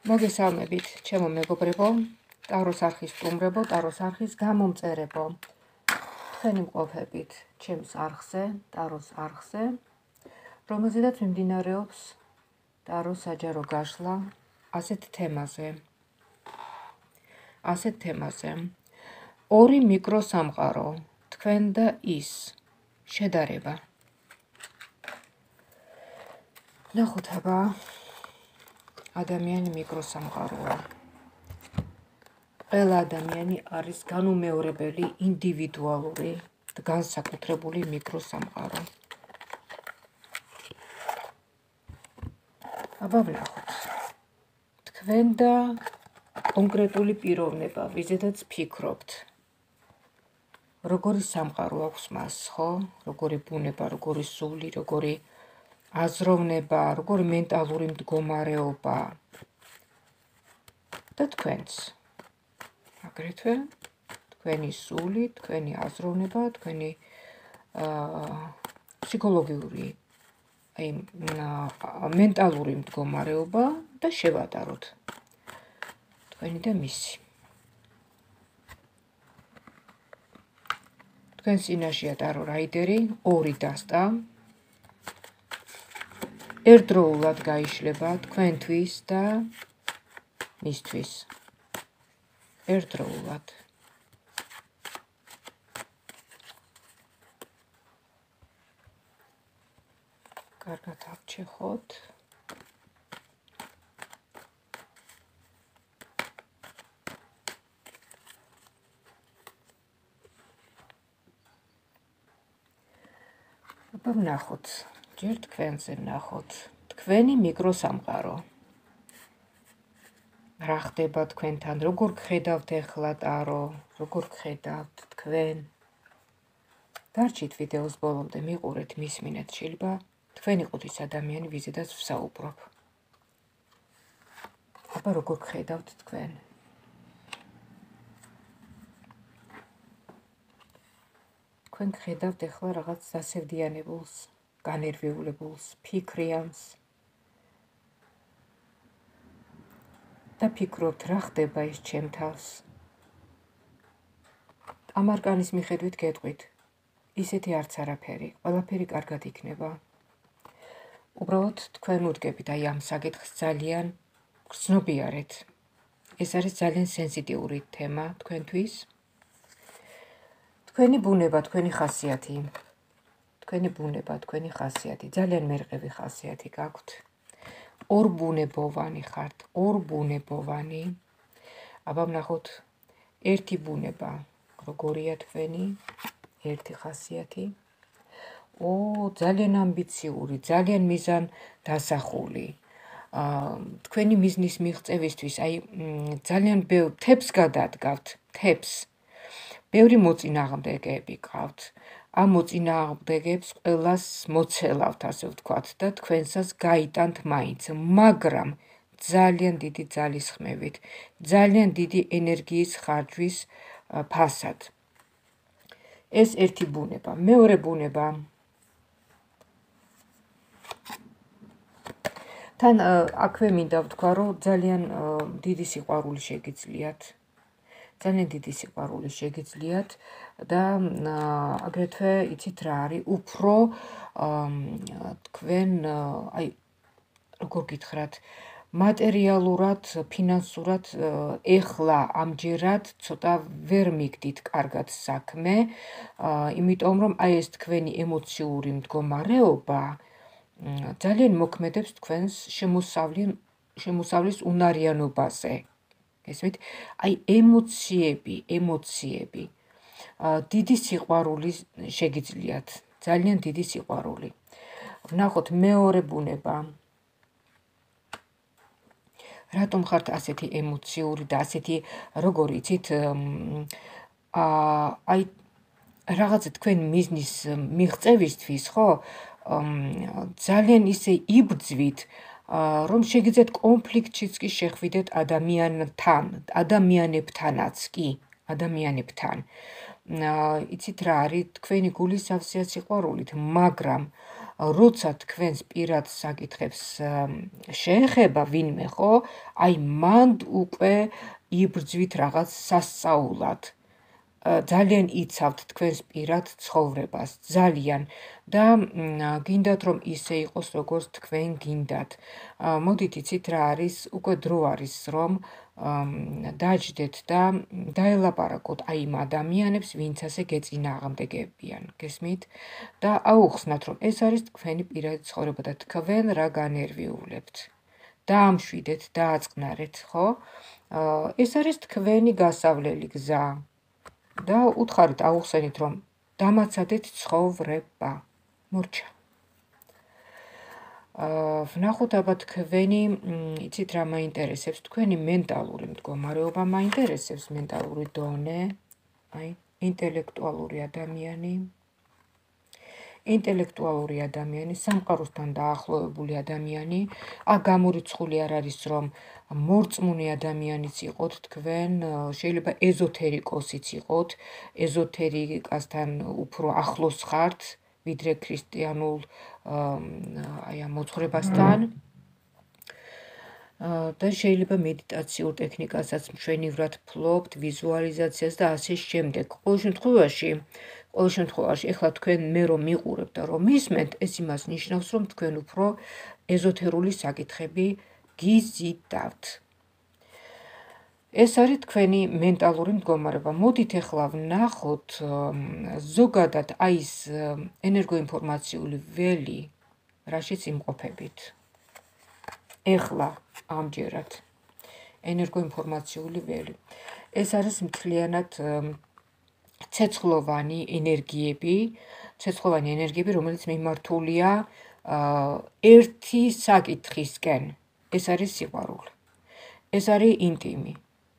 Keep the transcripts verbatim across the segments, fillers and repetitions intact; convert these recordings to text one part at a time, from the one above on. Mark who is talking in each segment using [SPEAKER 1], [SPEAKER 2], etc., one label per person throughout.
[SPEAKER 1] მოგესალმებით, ჩემო მეგობრებო, ტაროს არხის სტუმრებო, ტაროს არხის გამომწერებო. თქვენი მყოფებით ჩემს არხზე, ტაროს არხზე, რომელზედაც მიმდინარეობს ტაროს საჯარო გაშლა ასეთ თემაზე. ასეთ თემაზე. ორი მიკროსამყარო, თქვენ და ის, შედარება. ნახოთ აბა. ადამიანი მიკროსამყაროა. ყველა ადამიანი არის განუმეორებელი, ინდივიდუალური, განსაკუთრებული მიკროსამყარო. აბა ვნახოთ. თქვენ და კონკრეტული პიროვნება, ვიზედაც ფიქრობთ. როგორი სამყარო აქვს მას, ხო? როგორი ბუნება, როგორი სული, როგორი აზროვნება, როგორი მენტალური მდგომარეობა და თქვენც. აგრეთვე თქვენი სული, თქვენი აზროვნება, თქვენი ფსიქოლოგიური, აი მენტალური მდგომარეობა და შევადაროთ თქვენი და მისი. თქვენ წინაშეა ტარო რაიდერი, ორი დასტა. ერთდროულად გაიშლება თქვენთვის და მისთვის. ერთდროულად. კარგად აღჩეხოთ. აბა ვნახოთ. ჯერ თქვენზე ვნახოთ. თქვენი მიკროსამყარო. რა ხდება თქვენთან, როგორ გხედავთ ახლა ტარო, როგორ გხედავთ თქვენ. დარჩით ვიდეოს ბოლომდე, მიყურეთ, მისმინეთ, შეიძლება თქვენ იყოთ ის ადამიანი, ვიზედაც ვსაუბრობ. აბა როგორ გხედავთ თქვენ. თქვენ გხედავთ ახლა რაღაც დასევდიანებულს, განერვიულებულს, ფიქრიანს. და ფიქრობთ, რა ხდება ის ჩემ თავს. ამ არკანის მიხედვით გეტყვით, ისეთი არც არაფერი, ყველაფერი კარგად იქნება. უბრალოდ თქვენ უდგებით აი ამ საკითხს ძალიან გრძნობიარეთ. ეს არის ძალიან სენსიტიური თემა თქვენთვის. თქვენი ბუნება, თქვენი ხასიათი. თქვენი ბუნება, თქვენი ხასიათი, ძალიან მერყევი ხასიათი გაქვთ. ორბუნებოვანი ხართ, ორბუნებოვანი. აბა ვნახოთ ერთი ბუნება, როგორია თქვენი, ერთი ხასიათი. ო, ძალიან ამბიციური, ძალიან მიზან დასახული. თქვენი მიზნის მიღწევისთვის, აი ძალიან ბევრ თებს გადადგავთ, თებს. ბევრი მოწინააღმდეგეები გყავთ. ამ მოწინააღმდეგეებს ყველას მოცელავთ, ასე ვთქვათ, და თქვენსაც გაიტანთ მაინც, მაგრამ ძალიან დიდი ძალისხმევით, ძალიან დიდი ენერგიის ხარჯვის ფასად. ეს ერთი ბუნება. მეორე ბუნება. თან აქვე მინდა ვთქვა, რომ ძალიან დიდი სიყვარული შეგიძლიათ. ძალიან დიდი სიყვარული შეგიძლიათ და აგრეთვე იცით რა არის, უფრო თქვენ, აი, როგორ გითხრათ, მატერიალურად, ფინანსურად ეხლა ამჯერად ცოტა ვერ მიგდით კარგად საქმე, იმიტომ რომ აი ეს თქვენი ემოციური მდგომარეობა ძალიან მოქმედებს თქვენს შემოსავლის უნარიანობაზე. ესმით, აი ემოციები, ემოციები. დიდი სიყვარული შეგიძლიათ, ძალიან დიდი სიყვარული. ვნახოთ მეორე ბუნება. რატომ ხართ ასეთი ემოციური და ასეთი, როგორ იცით, აი რაღაცა თქვენ მიზნის მიღწევისთვის, ხო? ძალიან ისე იბრძვით, რომ შეგიძლიათ კონფლიქტშიც კი შეხვიდეთ ადამიანთან, ადამიანებთანაც კი, ადამიანებთან. იცით რა არის, თქვენი გული სავსეა სიყვარულით, მაგრამ როცა თქვენს პირად საკითხებს შეეხება ვინმე, ხო, აი მანდ უკვე იბრძვით რაღაც სასწაულად. ძალიან იცავთ თქვენს პირად ცხოვრებას, ძალიან და გინდათ რომ ისე იყოს როგორც თქვენ გინდათ. მოდით იცით რა არის, უკვე დრო არის რომ დაჯდეთ და დაელაპარაკოთ აი იმ ადამიანებს, ვინც ასე გეწინააღმდეგებიან, გესმით? და აუხსნათ რომ ეს არის თქვენი პირადი ცხოვრება და თქვენ რა განერვიულებთ. დაამშვიდეთ, დააწყნარეთ, ხო? ეს არის თქვენი გასავლელი გზა. და უთხარით აუხსენით რომ დამაცადეთ ცხოვრება. მორჩა. ვნახოთ აბა თქვენი, იცით რა მაინტერესებს, თქვენი მენტალური მდგომარეობა მაინტერესებს, მენტალური დონე, აი, ინტელექტუალური ადამიანი, ინტელექტუალური ადამიანი, სამყაროსთან დაახლოებული ადამიანი, აქ გამორიცხული არ არის რომ მორწმუნე ადამიანიც იყოთ თქვენ, შეიძლება ეზოთერიკოსიც იყოთ, ეზოთერიკასთან უფრო ახლოს ხართ, ვიდრე ქრისტიანულ აი ამ მოძღვრებასთან. და შეიძლება მედიტაციურ ტექნიკასაც მშვენივრად ფლობთ, ვიზუალიზაციას და ასე შემდეგ. ყოველ შემთხვევაში, ყოველ შემთხვევაში, ეხლა თქვენ მე რომ მიყურებთ და რომ მისმენთ, ეს იმას ნიშნავს, რომ თქვენ უფრო ეზოთერული საკითხები გიზიდავთ. ეს არის თქვენი მენტალური მდგომარეობა. მოდით ეხლა ვნახოთ ზოგადად აი ეს ენერგოინფორმაციული ველი, რაშიც იმყოფებით. ეხლა ამჯერად ენერგოინფორმაციული ველი. ეს არის მთლიანად ცეცხლოვანი ენერგიები, ცეცხლოვანი ენერგიები, რომელიც მიმართულია ერთი საკითხისკენ. ეს არის სიყვარული. ეს არის ინტიმი.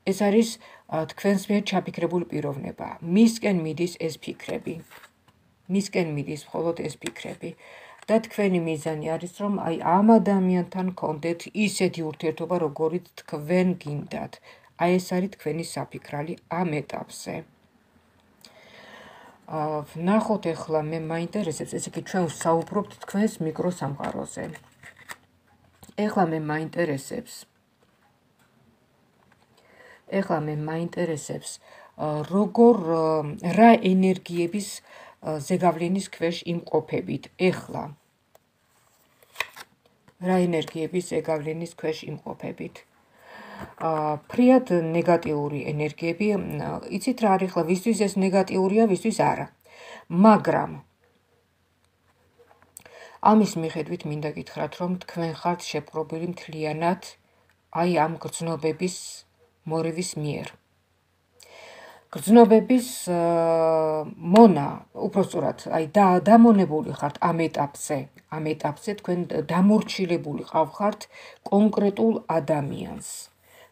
[SPEAKER 1] ეს არის თქვენს მიერ ჩაფიქრებული პიროვნება. მისკენ მიდის ეს ფიქრები. მისკენ მიდის მხოლოდ ეს ფიქრები. და თქვენი მიზანი არის რომ აი ამ ადამიანთან გქონდეთ ისეთი ურთიერთობა, როგორიც თქვენ გინდათ. აი ეს არის თქვენი საფიქრალი ამ ეტაპზე. ვნახოთ ეხლა მე მაინტერესებს, ესე იგი ჩვენ ვსაუბრობთ თქვენს მიკროსამყაროზე. ეხლა მე მაინტერესებს ეხლა მე მაინტერესებს როგორ რა ენერგიების ზეგავლენის ქვეშ იმყოფებით ეხლა. რა ენერგიების ზეგავლენის ქვეშ იმყოფებით. ფრიად ნეგატიური ენერგიები, იცით რა არის ახლა, ვისთვის ეს ნეგატიურია, ვისთვის არა. მაგრამ ამის მიხედვით მინდა გითხრათ, რომ თქვენ ხართ შეპყრობილი მთლიანად აი ამ გრძნობების მორევის მიერ. გრძნობების მონა, უпросторად, აი დამონებული ხართ ამ ეტაპზე, ამ ეტაპზე თქვენ დამორჩილებული ყავხართ კონკრეტულ ადამიანს.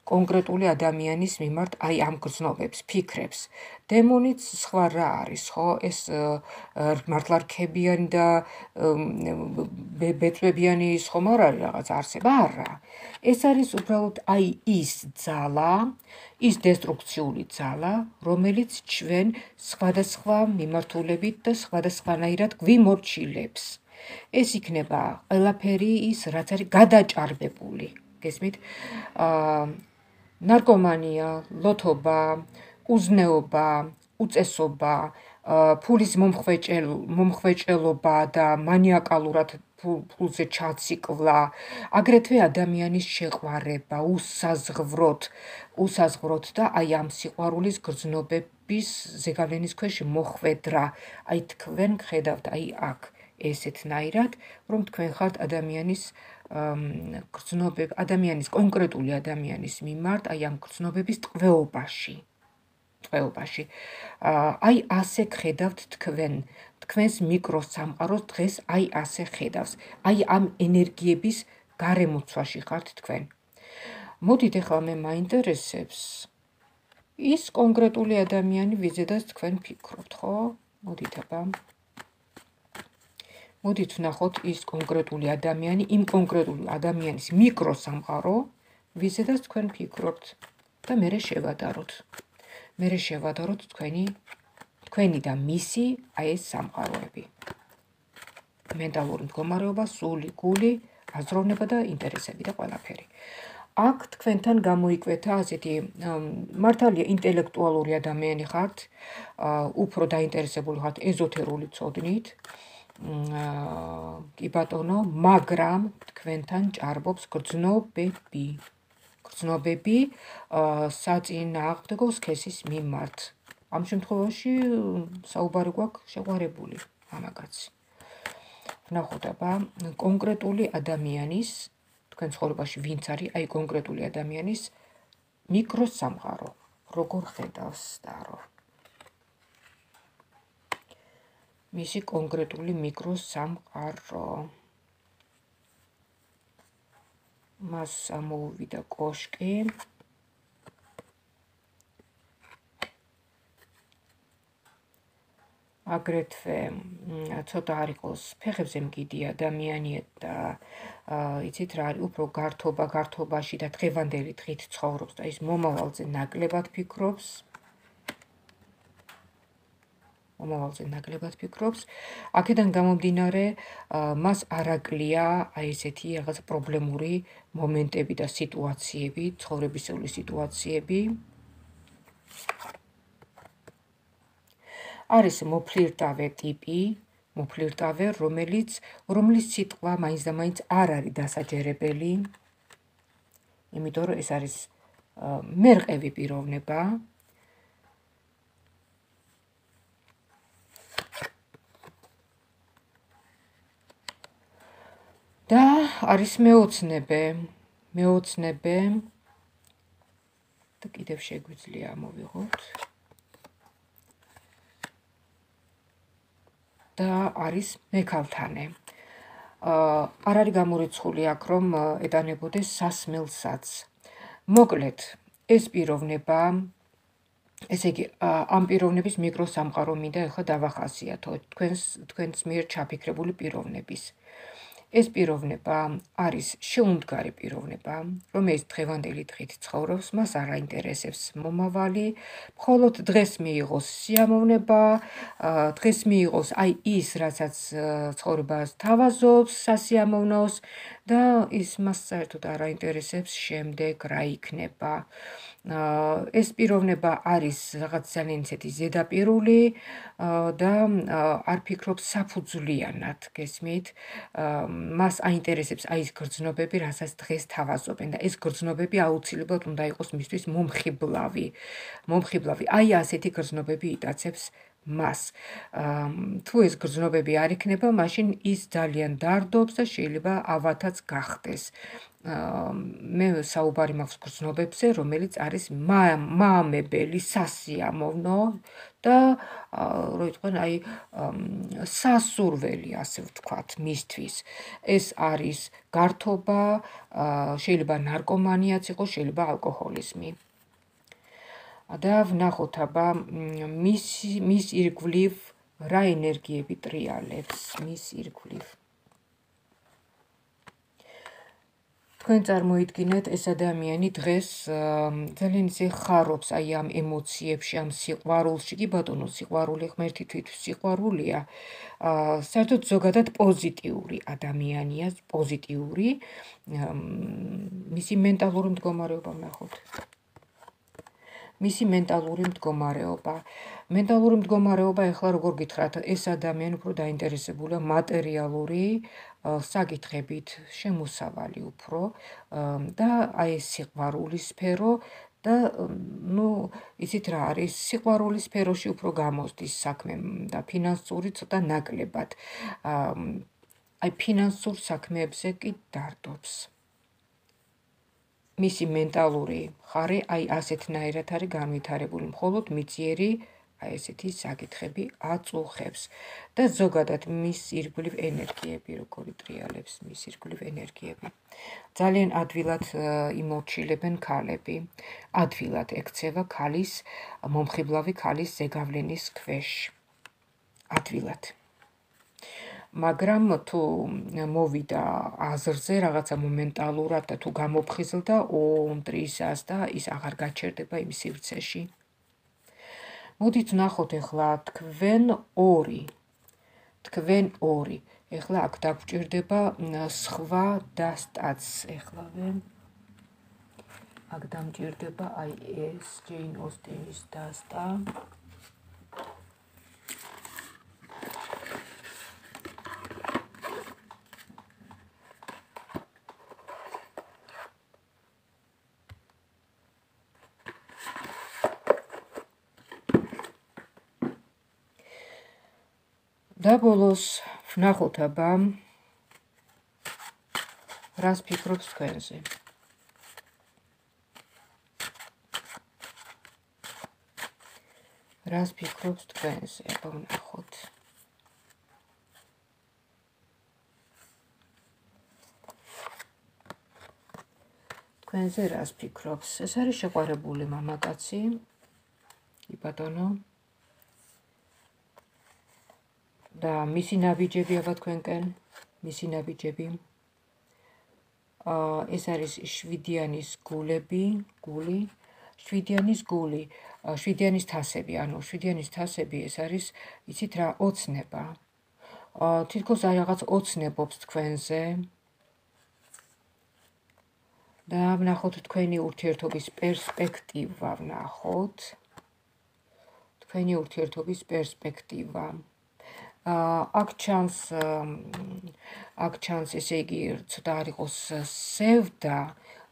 [SPEAKER 1] კონკრეტული ადამიანის მიმართ აი ამ გრძნობებს, ფიქრებს. დემონიც სხვა რა არის, ხო? ეს მართლა რქებიანი და ბეწვებიანი ის ხომ არ არის რაღაც არსება? არა. ეს არის უბრალოდ აი ის ძალა, ის დესტრუქციული ძალა, რომელიც ჩვენ სხვადასხვა მიმართულებით და სხვადასხვანაირად გვიმორჩილებს. ეს იქნება ყველაფერი ის, რაც არის გადაჭარბებული. გესმით? ნარკომანია, ლოთობა, უზნეობა, უწესობა, ფულის მომხვეჭელობა და მანიაკალურად ფულზე ჩაციკლა, აგრეთვე ადამიანის შეყვარება, უსაზღვროთ, უსაზღვროთ და აი ამ სიყვარულის გრძნობების ზეგავლენის ქვეშ მოხვედრა. აი თქვენ გხედავთ აი აქ ესეთნაირად, რომ თქვენ ხართ ადამიანის გრძნობებ, ადამიანის კონკრეტული ადამიანის მიმართ აი ამ გრძნობების ტყვეობაში. ტყვეობაში. აი ასე გხედავთ თქვენ, თქვენს მიკროსამყაროს დღეს აი ასე ხედავს. აი ამ ენერგიების გარემოცვაში ხართ თქვენ. მოდით ეხლა მე მაინტერესებს ის კონკრეტული ადამიანი, ვიზედაც თქვენ ფიქრობთ, ხო? მოდით აბა. მოდით ვნახოთ ის კონკრეტული ადამიანი, იმ კონკრეტული ადამიანის მიკროსამყარო, ვიზედაც თქვენ ფიქრობთ და მერე შევადაროთ. მერე შევადაროთ თქვენი, თქვენი და მისი აი ეს სამყაროები. მენტალური მდგომარეობა, სული, გული, აზროვნება და ინტერესები და ყველაფერი. აქ თქვენთან გამოიკვეთა ასეთი მართალია ინტელექტუალური ადამიანი ხართ, უფრო დაინტერესებული ხართ ეზოთერული ცოდნით, კი ბატონო, მაგრამ თქვენთან ჭარბობს გრძნობები. გრძნობები საწინააღმდეგო სქესის მიმართ. ამ შემთხვევაში საუბარი გვაქვს შეყვარებული მამაკაცი. ვნახოთ აბა კონკრეტული ადამიანის, თქვენ ცხოვრებაში ვინც არის, აი კონკრეტული ადამიანის მიკროსამყარო, როგორ ხედავს და რო მისი კონკრეტული მიკროსამყარო. მას ამოუვიდა კოშკი. აგრეთვე ცოტა არ იყოს ფეხებზე მგიდი ადამიანი და იცით რა არის, უფრო გართობა გართობაში და დღევანდელი დღით ცხოვრობს და ის მომავალზე ნაკლებად ფიქრობს. მომავალზე ნაკლებად ფიქრობს. აქედან გამომდინარე, მას არ აკლია აი ესეთი რაღაც პრობლემური მომენტები და სიტუაციები, ცხოვრებისეული სიტუაციები. არის მოფლირტავე ტიპი, მოფლირტავე, რომელიც რომლის სიტყვა მაინც და მაინც არ არის დასაჯერებელი, იმიტომ რომ ეს არის მერყევი პიროვნება. და არის მეოცნებე, მეოცნებე და კიდევ შეგვიძლია ამოვიღოთ. და არის მექალთანე. არ არის გამორიცხული აქ, რომ ეტანებოდეს სასმელსაც. მოკლედ, ეს პიროვნება, ესე იგი, ამ პიროვნების მიკროსამყარო მინდა ეხლა დავახასიათო, თქვენს თქვენს მიერ ჩაფიქრებული პიროვნების. ეს პიროვნება არის შეუმდგარი პიროვნება, რომელიც დღევანდელი დღით ცხოვრობს, მას არ აინტერესებს მომავალი, მხოლოდ დღეს მიიღოს სიამოვნება, დღეს მიიღოს აი ის, რასაც ცხოვრებას თავაზობს, სასიამოვნოს და ის მას საერთოდ არ აინტერესებს შემდეგ რა იქნება. ეს პიროვნება არის რაღაც ძალიან ისეთი ზედაპირული და არ ფიქრობს საფუძვლიანად, გესმით? მას აინტერესებს აი ეს გრძნობები, რასაც დღეს თავაზობენ და ეს გრძნობები აუცილებლად უნდა იყოს მისთვის მომხიბლავი. მომხიბლავი. აი ასეთი გრძნობები იტაცებს მას. თუ ეს გრძნობები არ იქნება, მაშინ ის ძალიან დარდობს და შეიძლება ავათაც გახდეს. მე საუბარი მაქვს გრძნობებზე, რომელიც არის მაამებელი, სასიამოვნო და რო იტყვენ, აი სასურველი, ასე ვთქვათ, მისთვის. ეს არის გართობა, შეიძლება ნარკომანიაც იყოს, შეიძლება ალკოჰოლიზმი. და ვნახოთ აბა მის მის ირგვლივ რა ენერგიები ტრიალებს მის ირგვლივ. თქვენ წარმოიდგინეთ, ეს ადამიანი დღეს ძალიან ისე ხარობს აი ამ ემოციებში, ამ სიყვარულში, კი ბატონო, სიყვარული ღმერთი თვით სიყვარულია. საერთოდ ზოგადად პოზიტიური ადამიანია, პოზიტიური, მისი მენტალური მდგომარეობა ვნახოთ. მისი მენტალური მდგომარეობა. მენტალური მდგომარეობა ეხლა როგორ გითხრათ, ეს ადამიანი უფრო დაინტერესებულია მატერიალური საკითხებით, შემოსავალი უფრო და აი ეს სიყვარულის სფერო და ნუ იცით რა არის, სიყვარულის სფეროში უფრო გამოსდის საქმე და ფინანსური ცოტა ნაკლებად. აი ფინანსურ საქმეებზე კი დარდობს. მისი მენტალური ხარი აი ასეთნაირად არის განვითარებული, მხოლოდ მიწიერი აი ესეთი საკითხები აწუხებს და ზოგადად მის ირგვლივ ენერგიები, როგორი ტრიალებს მის ირგვლივ ენერგიები. ძალიან ადვილად იმორჩილებენ ქალები, ადვილად ექცევა ქალის, მომხიბლავი ქალის ზეგავლენის ქვეშ. ადვილად. მაგრამ თუ მოვიდა აზრზე რაღაცა მომენტალურად და თუ გამოფხიზლდა უმტრისას და ის აღარ გაჩერდება იმ სივრცეში. მოდით ვნახოთ ახლა თქვენ ორი. თქვენ ორი. ეხლა აქ დაგვჭირდება სხვა დასტაც. ეხლავე აქ დამჭირდება აი ეს ჯეინ ოსტინის დასტა. და ბოლოს ვნახოთ აბა რას ფიქრობს თქვენზე. რას ფიქრობს თქვენზე, აბა ვნახოთ. თქვენზე რას ფიქრობს? ეს არის შეყვარებული მამაკაცი. კი ბატონო. და მისი ნაბიჯები აბა თქვენკენ, მისი ნაბიჯები. აა ეს არის შვიდიანის გულები, გული, შვიდიანის გული, შვიდიანის თასები, ანუ შვიდიანის თასები ეს არის, იცით რა, ოცნება. აა თითქოს აი რაღაც ოცნებობს თქვენზე. და ვნახოთ თქვენი ურთიერთობის პერსპექტივა, ვნახოთ. თქვენი ურთიერთობის პერსპექტივა. აქ ჩანს აქ ჩანს ესე იგი ცოტა არ იყოს სევდა,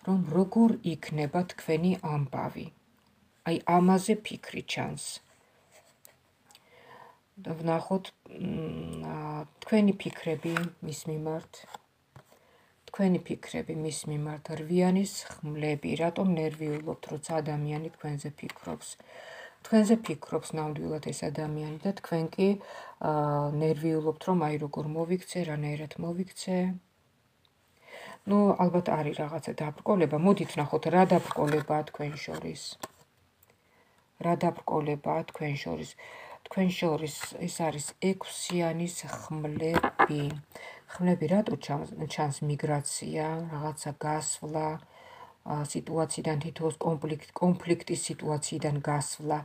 [SPEAKER 1] რომ როგორ იქნება თქვენი ამბავი. აი ამაზე ფიქრი ჩანს. და ვნახოთ თქვენი ფიქრები მის მიმართ. თქვენი ფიქრები მის მიმართ, რვიანის ხმლები, რატომ ნერვიულობთ, როცა ადამიანი თქვენზე ფიქრობს. თქვენზე ფიქრობს ნამდვილად ეს ადამიანი და თქვენ კი ნერვიულობთ, რომ აი როგორ მოვიქცე, რანაირად მოვიქცე. ნუ ალბათ არის რაღაცა დაბრკოლება, მოდით ვნახოთ რა დაბრკოლებაა თქვენ შორის. რა დაბრკოლებაა თქვენ შორის. თქვენ შორის ეს არის ექვსიანის ხმლები. ხმლები რატო ჩანს მიგრაცია, რაღაცა გასვლა, სიტუაციიდან თითოეულ კონფლიქტის სიტუაციიდან გასვლა.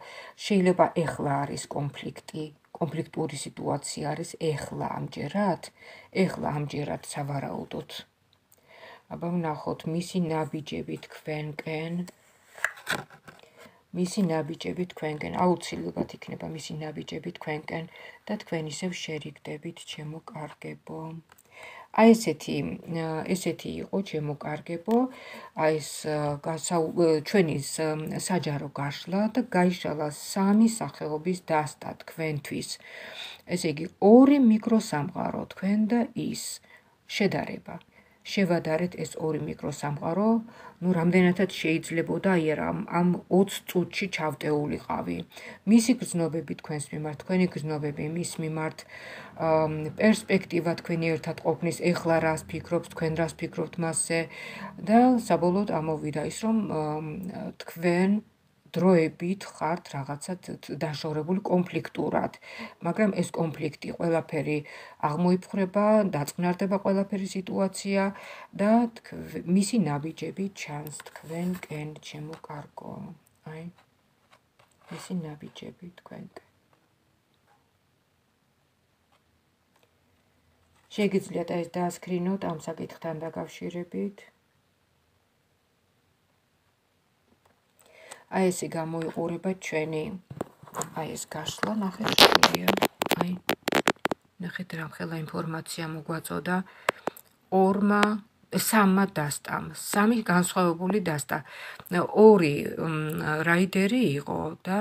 [SPEAKER 1] შეიძლება ეხლა არის კონფლიქტი, კონფლიქტური სიტუაცია არის ეხლა ამჯერად, ეხლა ამჯერად სავარაუდოდ. აბა ვნახოთ მისი ნაბიჯები თქვენკენ. მისი ნაბიჯები თქვენკენ, აუცილებლად იქნება მისი ნაბიჯები თქვენკენ და თქვენ ისევ შერიგდებით, ჩემო კარგებო. აი ესეთი ესეთი იყო ჩემო კარგებო, აი ეს ჩვენი საჯარო გაშლა და გაიშალა სამი სახეობის დასტა თქვენთვის. ესე იგი ორი მიკროსამყარო თქვენ და ის შედარება. შევადარეთ ეს ორი მიკროსამყარო, ნუ რამდენადაც შეიძლებოდა აი ამ ოც წუთში ჩავტეულიყავი. მისი გრძნობები თქვენს მიმართ, თქვენი გრძნობები მის მიმართ, პერსპექტივა თქვენი ერთად ყოფნის, ეხლა რას ფიქრობთ, თქვენ რას ფიქრობთ მასზე და საბოლოოდ ამოვიდა ის, რომ თქვენ დროებით ხართ რაღაცა დაშორებული კონფლიქტურად, მაგრამ ეს კონფლიქტი ყველაფერი აღმოიფხრება, დაწყნარდება ყველაფერი სიტუაცია და მისი ნაბიჯები ჩანს თქვენკენ, ჩემო კარგო. აი, მისი ნაბიჯები თქვენკენ. შეგიძლიათ ეს დაასკრინოთ ამ საკითხთან დაკავშირებით. აი ესე გამოიყურება ჩვენი აი ეს გაშლა, ნახეთ შეგვიძლია. აი ნახეთ რამხელა ინფორმაცია მოგვაწოდა ორმა სამმა დასტამ, სამი განსხვავებული დასტა. ორი რაიდერი იყო და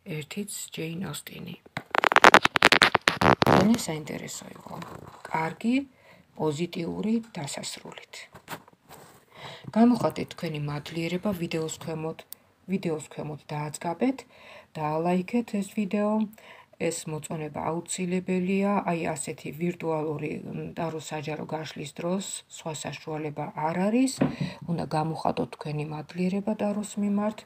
[SPEAKER 1] ერთიც ჯეინ ოსტინი. ძალიან საინტერესო იყო. კარგი, პოზიტიური დასასრულით. გამოხატეთ თქვენი მადლიერება ვიდეოს ქვემოთ. ვიდეოს ქვემოთ დააწყაბეთ, დაალაიქეთ ეს ვიდეო. ეს მოწონება აუცილებელია, აი ასეთი ვირტუალური ტარო საჯარო გაშლის დროს, სხვა საშუალება არ არის. უნდა გამოხატოთ თქვენი მადლიერება ტაროს მიმართ.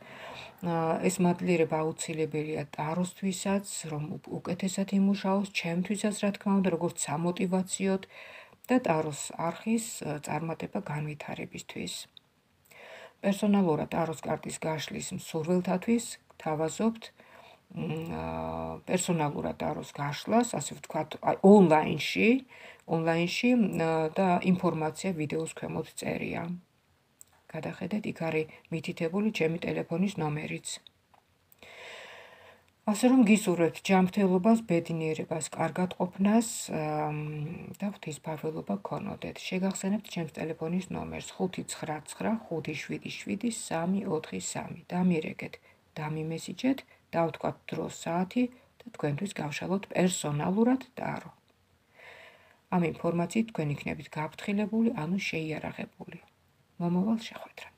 [SPEAKER 1] ეს მადლიერება აუცილებელია ტაროსთვისაც, რომ უკეთესად იმუშაოს, ჩემთვისაც რა თქმა უნდა, როგორც სამოტივაციოდ და ტაროს არხის წარმატება განვითარებისთვის. პერსონალურად ტაროს კარტის გაშლის მსურველთათვის გთავაზობთ პერსონალურად დაროს გაშლას, ასე ვთქვათ, ონლაინში, ონლაინში და ინფორმაცია ვიდეოს ქვემოთ წერია. გადახედეთ, იქ არის მითითებული ჩემი ტელეფონის ნომერიც. ასე რომ გისურვებთ ჯანმრთელობას, ბედნიერებას, კარგად ყოფნას და ღვთისმფარველობა გქონოდეთ. შეგახსენებთ ჩემს ტელეფონის ნომერს ხუთი ცხრა ცხრა ხუთი შვიდი შვიდი სამი ოთხი სამი. დამირეკეთ, დამიმესიჯეთ, დავთქვათ დრო, საათი და თქვენთვის გავშალოთ პერსონალურად დარო. ამ ინფორმაციით თქვენ იქნებით გაფრთხილებული, ანუ შეიარაღებული. მომავალ შეხვედრამდე.